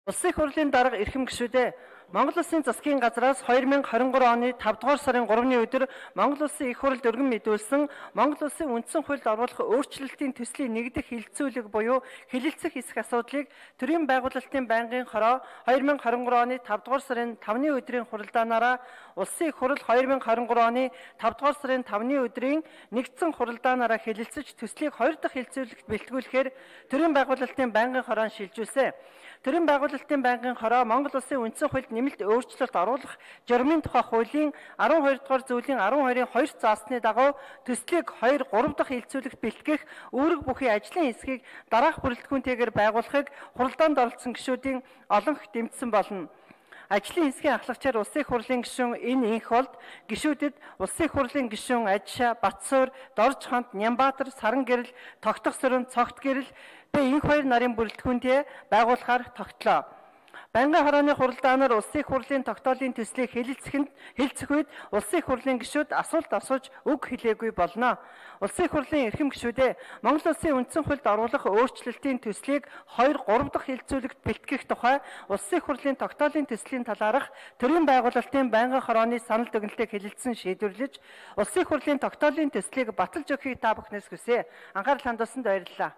Улсын их хурлын дарга эрхэм гишүүдээ Монгол Улсын засгийн газраас 2023 оны 5 дугаар сарын 3-ны өдөр Монгол Улсын их хурлд өргөн мэдүүлсэн Монгол Улсын үндсэн хуульд оруулах өөрчлөлтийн төслийн нэгдэх хилцүүлэг буюу хэлэлцэх хэсэг асуудлыг төрийн байгуулалтын байнгын хороо 2023 оны 5 дугаар сарын 5-ны өдрийн хуралдаанаараа Улсын их хурл 2023 оны 5 дугаар сарын 5-ны өдрийн нэгдсэн хуралдаанаараа хэлэлцэж төслийг 2 дахь хилцүүлэгт бэлтгүүлэхээр төрийн байгуулалтын байнгын хороон шилжүүлсэн. Төрийн байгуулалтын байнгын хороо Монгол Улсын үндсэн хуульд нэмэлт өөрчлөлт оруулах журмын тухай хуулийн 12 дугаар зүйлийн 12-ын 2 заасны дагуу төслийг 2, 3 дахь хилцүүлэгт бэлтгэх үүрэг бүхий ажлын хэсгийг дараах бүрэлдэхүүнтэйгээр байгуулахыг хуралдаанд оролцсон гишүүдийн олонх дэмжсэн болно. Ажлын хэсгийн ахлагчаар Улсын их хурлын гишүүн энэ инх болд гишүүдэд Улсын их хурлын гишүүн Ажишаа, Батсуур, Дорж хонт, Нямбаатар, Саран гэрэл, Тогтох сөрөн, Цогт гэрэл инх хоёр нарын бүрэлдэхүүнтэй байгуулахаар тогтлоо. Байнгын хорооны хуралдаанаар Улсын их хурлын тогтоолын төслийг хэлэлцэх үед Улсын их хурлын гишүүд асуулт асууж үг хэлээгүй болно. Улсын их хурлын эрхэм гишүүдээ Монгол Улсын үндсэн хуульд оруулах өөрчлөлтийн төслийг 2, 3 дахь хилцүүлэгт бэлтгэх тухай Улсын их хурлын тогтоолын төслийн талаарх төрийн байгуулалтын байнгын хорооны санал дүгнэлтийг хэлэлцсэн шийдвэрлэж Улсын их хурлын тогтоолын төслийг баталж өгөхийг та бүхнээс хүсье. Анхаарал хандуулсанд баярлалаа.